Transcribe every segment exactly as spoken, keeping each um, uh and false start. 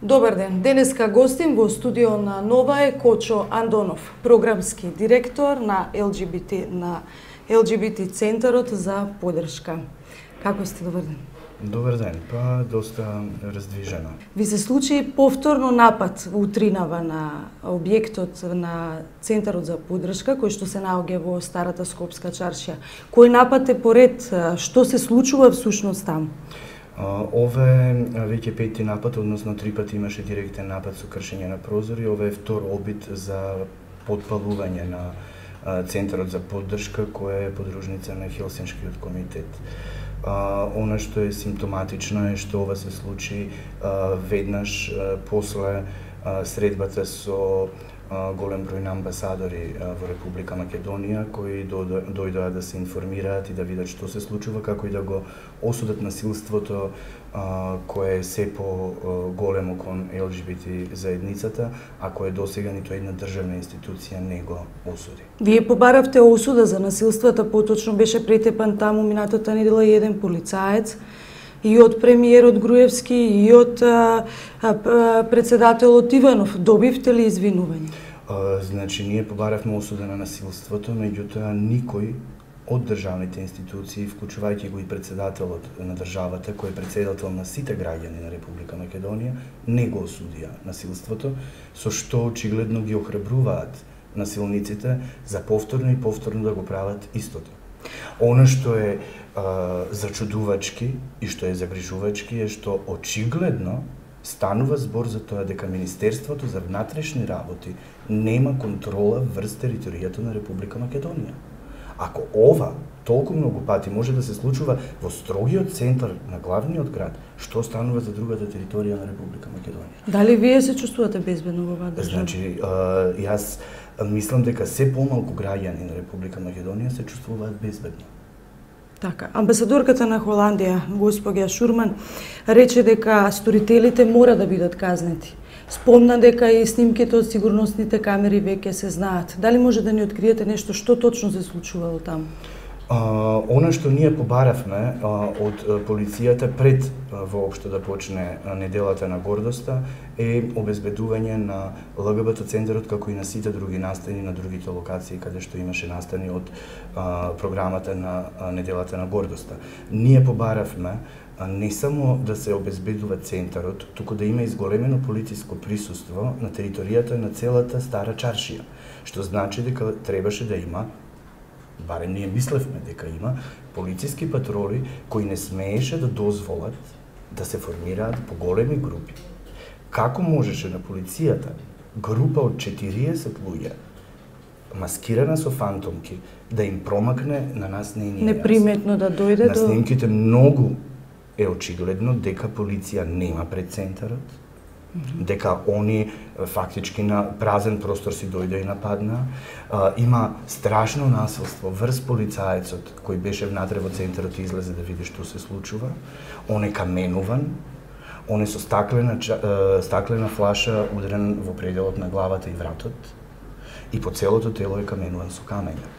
Добар ден. Денеска гостим во студио на Нова е Кочо Андонов, програмски директор на Ел Џи Би Ти на Ел Џи Би Ти Центарот за поддршка. Како сте? Добар ден. Добар ден, па доста раздвижено. Ви се случи повторно напад утринава на објектот на Центарот за поддршка, кој што се наоѓа во старата Скопска чаршија. Кој напад е поред? Што се случува всушност там? Ове веќе пети напад, односно три пати имаше директен напад со кршење на прозори. Ова е втор обид за подпалување на Центарот за поддршка, која е подружница на Хелсиншкиот комитет. Uh, она што е симптоматично е што ова се случи uh, веднаш uh, после uh, средбата со uh, голем број на амбасадори uh, во Република Македонија, кои дојдоа да се информираат и да видат што се случува, како и да го осудат насилството uh, кое е се по uh, големо кон Ел Џи Би Ти заедницата, а кое досега ниту една државна институција не го осуди. Вие побаравте осуда за насилствата, поточно беше претепан таму минатата недела и еден полицаец, и од премиерот Груевски, и од а, а, председателот Иванов. Добивте ли извинување? Uh, значи, ние побаравме осуда на насилството, меѓутоа никој од државните институции, вклучувајќи го и председателот на државата, кој е председател на сите граѓани на Република Македонија, не го осудија насилството, со што очигледно ги охрабруваат насилниците за повторно и повторно да го прават истото. Она што е а, зачудувачки и што е загрижувачки е што очигледно станува збор за тоа дека Министерството за внатрешни работи нема контрола врз територијата на Република Македонија. Ако ова толку многу пати може да се случува во строгиот центар на главниот град, што станува за другата територија на Република Македонија? Дали вие се чувствувате безбедно во оваа држава? Значи, а, јас мислам дека се помалку граѓани на Република Македонија се чувствуваат безбедно. Така, амбасадорката на Холандија, господја Шурман, рече дека сторителите мора да бидат казнети. Спомна дека и снимките од сигурносните камери веќе се знаат. Дали може да ни откриете нешто што точно се случувало таму? Uh, она што ние побаравме uh, од uh, полицијата пред uh, воопшто да почне uh, неделата на гордоста е обезбедување на Ел Ге Бе Те центарот, како и на сите други настани на другите локации каде што имаше настани од uh, програмата на uh, неделата на гордоста. Ние побаравме uh, не само да се обезбедува центарот, туку да има изголемено полициско присуство на територијата на целата стара чаршија, што значи дека требаше да има, барем ние мислевме дека има, полициски патроли кои не смееше да дозволат да се формираат поголеми групи. Како можеше на полицијата група од четириесет луѓе, маскирана со фантомки, да им промакне на нас не е ни неприметно да дојде на до... снимките многу е очигледно дека полиција нема пред центарот, дека они фактички на празен простор си дојде и нападна. А, има страшно насилство врз полицаецот кој беше внатре во центарот и излезе да види што се случува. Он е каменуван, он е со стаклена, стаклена флаша удрен во пределот на главата и вратот и по целото тело е каменуван со камења.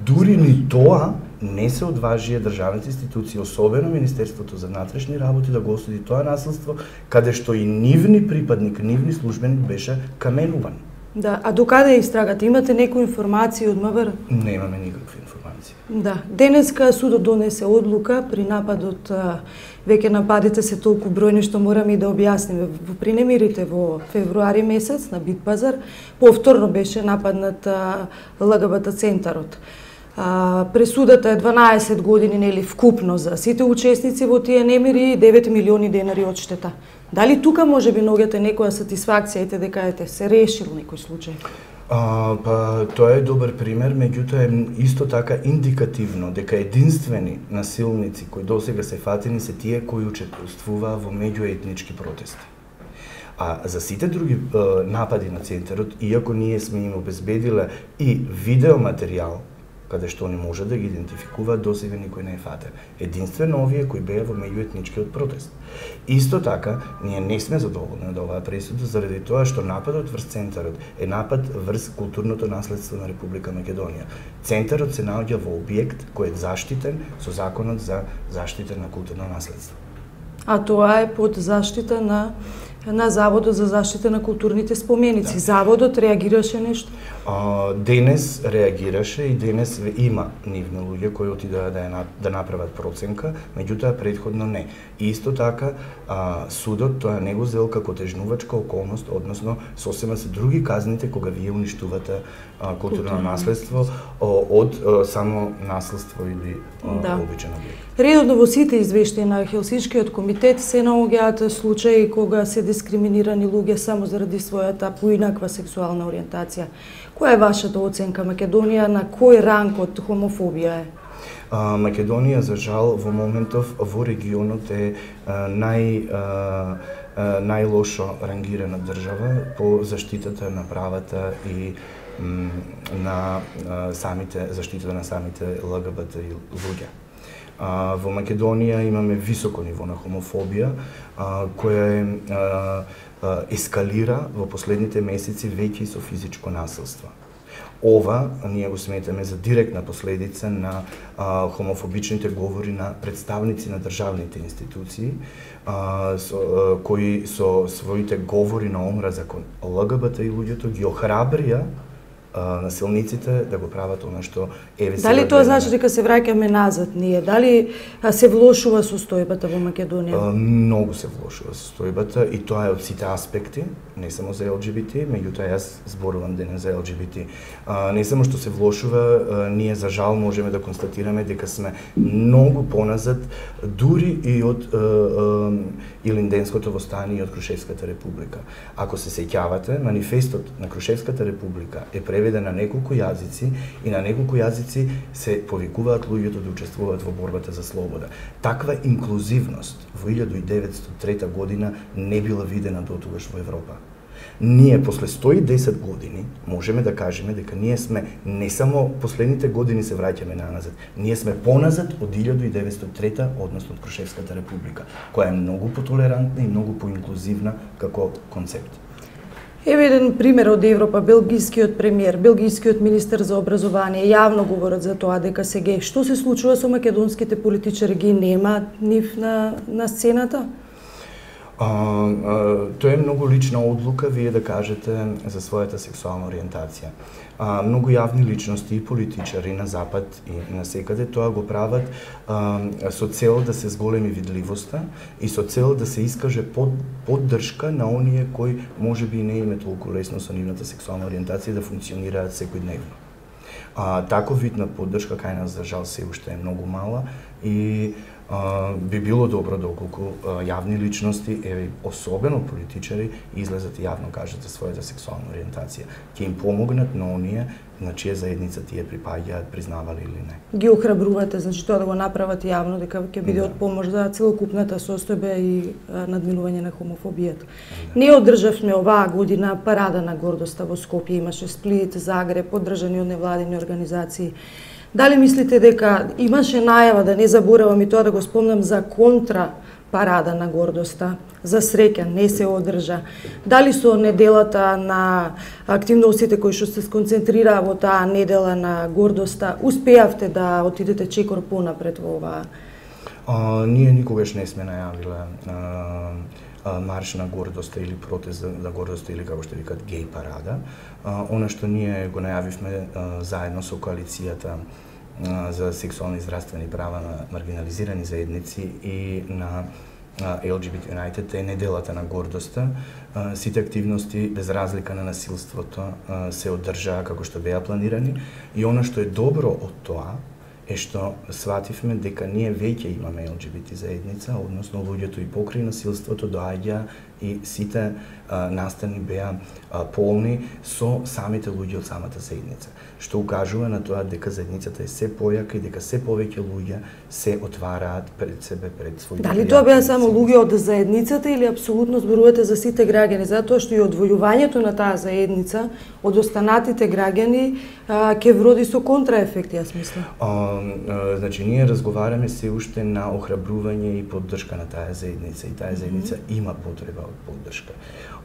Дури ни тоа не се одважија државните институции, особено Министерството за внатрешни работи, да го осуди тоа насилство, каде што и нивни припадник, нивни службеник беше каменуван. Да, а докаде е истрагата? Имате некои информации од М В Р? Немаме никакви информации. Да, денеска судот донесе одлука при нападот, веќе нападите се толку бројни што мораме и да објасниме. Во принемирите во февруари месец на Битпазар повторно беше нападнат Ел Ге Бе Те центарот. А, пресудата е дванаесет години, нели, вкупно за сите учесници во тие немири и девет милиони денари одштета. Дали тука може би наоѓате некоја сатисфакција, ете дека ете се решил некој случај? А, па тоа е добар пример, меѓутоа е исто така индикативно дека единствени насилници кои досега се фатени се тие кои учествуваа во меѓуетнички протести. А за сите други е, напади на центарот, иако ние сме им обезбедиле и видеоматеријал каде што они може да ги идентификуваат, досега никој не е фатен. Единствено овие кои беа во меѓуетничкиот протест. Исто така, ние не сме задоволни од оваа пресуда заради тоа што нападот врз центарот е напад врз културното наследство на Република Македонија. Центарот се наоѓа во објект кој е заштитен со законот за заштита на културно наследство. А тоа е под заштита на на Заводот за заштита на културните споменици. Да. Заводот реагираше нешто? А, денес реагираше и денес има нивни луѓе кои отидоа да, на, да направат проценка, меѓутоа предходно не. И исто така, а, судот тоа не го зел како тежнувачка околност, односно сосема се други казните кога вие уништувате а, културно Културно. наследство од а, само наследство или а, да. обичен објект. Редовно во сите извештаи на Хелсиншкиот комитет се наоѓаат случаи кога се дискриминирани луѓе само заради својата поинаква сексуална ориентација. Која е вашата оценка? Македонија на кој ранг од хомофобија е? А, Македонија, за жал, во моментов во регионот е а, нај а, а, најлошо рангирана држава по заштитата на правата и м, на а, самите заштитата на самите ЛГБТ луѓе. А, во Македонија имаме високо ниво на хомофобија, а, која е а, а, ескалира во последните месеци веќе и со физичко насилство. Ова ние го сметаме за директна последица на а, хомофобичните говори на представници на државните институции, а, со, а, кои со своите говори на омраза кон ЛГБТ и луѓето ги охрабрија насилниците да го прават она што еве сега. Дали тоа значи дека се враќаме назад ние? Дали се влошува состојбата во Македонија? Многу се влошува состојбата и тоа е од сите аспекти, не само за Л Г Б Т, меѓутоа јас зборувам денес за Л Г Б Т. Не само што се влошува, ние за жал можеме да констатираме дека сме многу поназад дури и од Илинденското востание и од Крушевската република. Ако се сеќавате, манифестот на Крушевската република е преведен на неколку јазици и на неколку јазици се повикуваат луѓето да учествуваат во борбата за слобода. Таква инклузивност во илјада и деветстотини и трета година не била видена дотогаш во Европа. Ние после сто и десет години можеме да кажеме дека ние сме не само последните години се враќаме назад, ние сме поназад од илјада и деветстотини и трета, односно од Крушевската република, која е многу потолерантна и многу поинклузивна како концепт. Еве еден пример од Европа, белгискиот премиер, белгискиот министер за образование јавно говорат за тоа дека се геј. Што се случува со македонските политичари, ги нема нив на на сцената? А, а, тоа е многу лична одлука вие да кажете за својата сексуална ориентација. А, многу јавни личности и политичари на запад и на секаде тоа го прават а, со цел да се зголеми видливоста и со цел да се искаже под, поддршка на оние кои можеби не име толку лесно со нивната сексуална ориентација да функционираат секојдневно. А, таков вид на поддршка кај нас за жал се уште е многу мала и Uh, би било добро доколку uh, јавни личности, еве особено политичари, излезат и јавно кажат за својата сексуална ориентација. Ќе им помогнат на оние на чија заедница тие припаѓаат, признавали или не. Ги охрабрувате, значи тоа да го направат јавно, дека ќе биде од помош за целокупната состојба и а, надминување на хомофобијата. Да. Ние одржавме оваа година парада на гордоста во Скопје, имаше Сплит, Загреб, поддржани од невладини организации. Дали мислите дека имаше најава, да не заборавам и тоа да го спомнам, за контра парада на гордоста? За среќа не се одржа. Дали со неделата на активностите кои што се сконцентрираа во таа недела на гордоста, успеавте да отидете чекор понапред во оваа? А, ние никогаш не сме најавиле а, марш на гордоста или протест на гордоста или како што викат геј парада. А, она што ние го најавивме а, заедно со коалицијата а, за сексуални и здравствени права на маргинализирани заедници и на Л Г Б Т United е неделата на гордоста. А, сите активности без разлика на насилството а, се одржаа како што беа планирани и она што е добро од тоа е што свативме дека ние веќе имаме Л Г Б Т заедница, односно луѓето и покрај насилството доаѓа и сите а, настани беа а, полни со самите луѓе од самата заедница, што укажува на тоа дека заедницата е се појака и дека се повеќе луѓе се отвараат пред себе, пред своите. Дали тоа беа само луѓе од заедницата или апсолутно зборувате за сите граѓани, затоа што и одвојувањето на таа заедница од останатите граѓани а, ќе вроди со контраефекти, јас мислам. А, а, значи ние разговараме се уште на охрабрување и поддршка на таа заедница и таа заедница mm -hmm. има потреба од поддршка.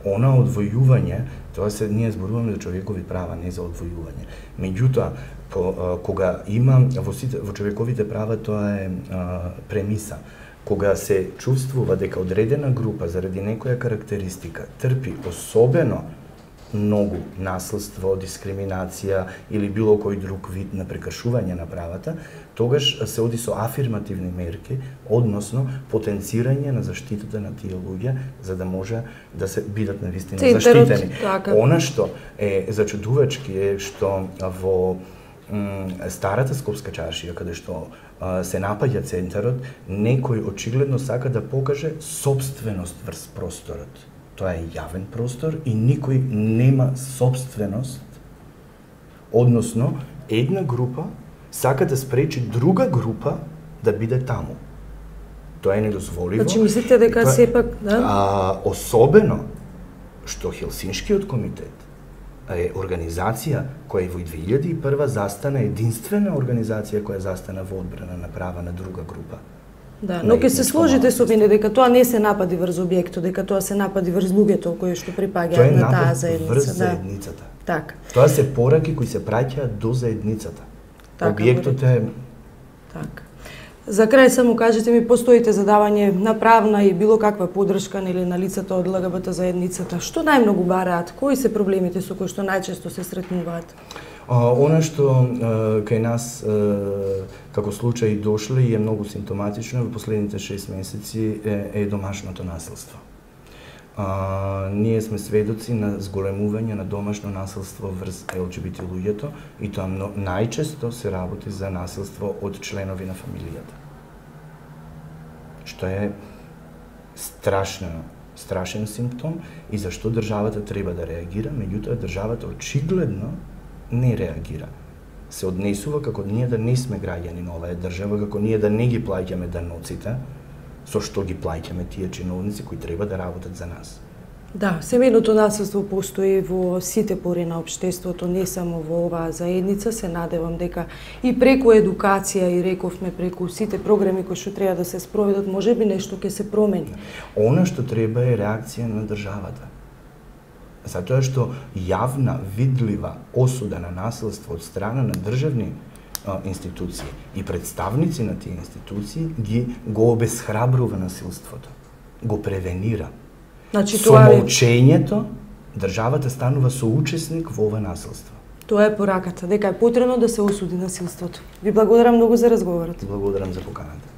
Она одвојување, тоа се ние зборуваме за човекови права, не за одвојување. Меѓутоа, по, а, кога има во, сите, во човековите права тоа е а, премиса. кога се чувствува дека одредена група заради некоја карактеристика трпи особено многу насилство, дискриминација или било кој друг вид на прекршување на правата, тогаш се оди со афирмативни мерки, односно потенцирање на заштитата на тие луѓе, за да може да се бидат навистина заштитени. Така. Она што е зачудувачки е што во старата Скопска чаршија, каде што а, се напаѓа центарот, некој очигледно сака да покаже собственост врз просторот. Тоа е јавен простор и никој нема собственост, односно една група сака да спречи друга група да биде таму. Тоа е недозволиво. Значи мислите дека тоа, сепак, да? А, особено што Хелсиншкиот комитет е организација која во две илјади и прва застана, единствена организација која застана во одбрана на права на друга група. Да, но ќе се сложите со мене дека тоа не се напади врз објектот, дека тоа се напади врз луѓето кои што припаѓаат на таа заедница. Врз да. заедницата. Така. Тоа се пораки кои се праќаат до заедницата. Така, објектот е така. За крај само кажете ми, постоите за давање на правна и било каква поддршка нели на лицата од ЛГБТ заедницата. Што најмногу бараат? Кои се проблемите со кои што најчесто се сретнуваат? А, она што а, кај нас а, како случаи дошле и е многу симптоматично во последните шест месеци е, е домашното насилство. А, ние сме сведоци на зголемување на домашно насилство врз Ел Џи Би Ти луѓето и тоа мно, најчесто се работи за насилство од членови на фамилијата. Што е страшно, страшен симптом и зашто државата треба да реагира, меѓутоа државата очигледно не реагира. Се однесува како ние да не сме граѓани на оваа држава, како ние да не ги плаќаме даноците, со што ги плаќаме тие чиновници кои треба да работат за нас. Да, семејното насилство постои во сите пори на општеството, не само во оваа заедница. Се надевам дека и преку едукација, и рековме преку сите програми кои што треба да се спроведат, можеби нешто ќе се промени. Она што треба е реакција на државата. Затоа што јавна, видлива осуда на насилство од страна на државни а, институции и представници на тие институции ги го обесхрабрува насилството, го превенира. Значи, Со тоа е... молчењето државата станува соучесник во ова насилство. Тоа е пораката, дека е потребно да се осуди насилството. Ви благодарам многу за разговорот. Благодарам за поканата.